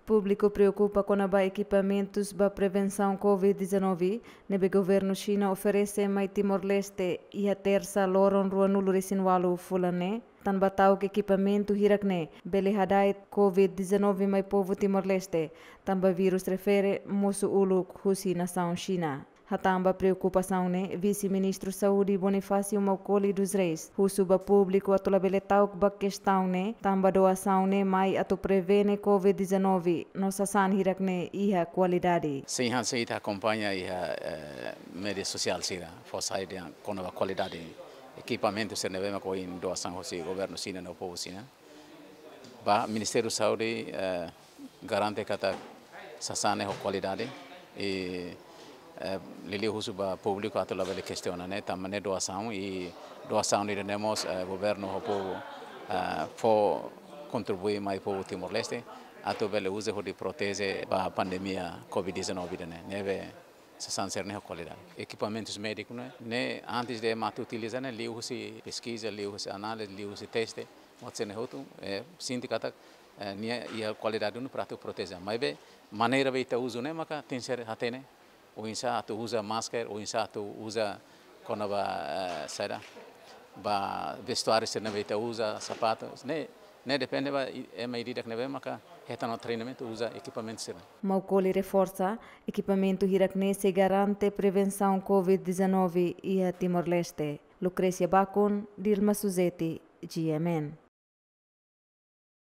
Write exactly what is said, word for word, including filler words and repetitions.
Públiku preokupa kona-ba ekipamentus ba prevensaun covid dezanove ne'ebé governu Xina oferese mai Timor-Leste iha Tersa loron ruanulu resin walu fulan ne'e, tanba ta'uk ekipamentu hirak ne'e bele hada'et covid dezanove mai povu Timor-Leste, tanba virus refere mosu uluk husi nasaun Xina. Hatán ba preokupasaun ne'e, Vise-Ministru Saúde Bonifácio Maukoli dos Reis husu ba públiku atu labele ta'uk ba kestaun ne'e, tanba doasaun ne'e mai atu prevene covid dezanove no sasán hirak ne'e iha kualidade. Sin, hanesan ita akompaña iha, eh, média sosiál sira, fó sai dehan kona-ba kualidade ekipamentu sira ne'ebé mak ohin doasaun husi governu Xina no povu Xina. Ba Ministériu Saúde, eh, garante katak sasán ne'e ho kualidade. I, eh, liuliu husu ba públiku atu labele kestiona ne'e, tanba ne'e doasaun, i doasaun ida-ne'e mós, eh, governu ho povu, eh, fó kontribui mai povu Timor-Leste atu bele uza hodi proteje ba pandemia covid dezanove ida-ne'e. Ne'ebé sasán sira-ne'e ho kualidade. Ekipamentus médiku ne'e, ne'e antes de ema atu utiliza ne'e, liuhusi peskiza, liuhusi análize, liuhusi teste, mós sira-ne'e hotu, eh, sente katak, eh, nia iha kualidade duni para atu proteje. Maibé maneira be ita uza ne'e maka tenke ser hatene. Oinsá atu uza masker, oinsá atu uza kona-ba, eh, saida, ba vestuáriu sira ne'ebé ita uza, sapatu, ne'e, ne'e depende ba i-, ema ida-idak ne'ebé maka hetan ona treinamentu uza ekipamentu sira. Maukoli reforsa, ekipamentu hirak ne'e sei garante prevensaun covid dezanove iha Timor-Leste. Lucrécia Bacon, Dilma Suzeti, G M N.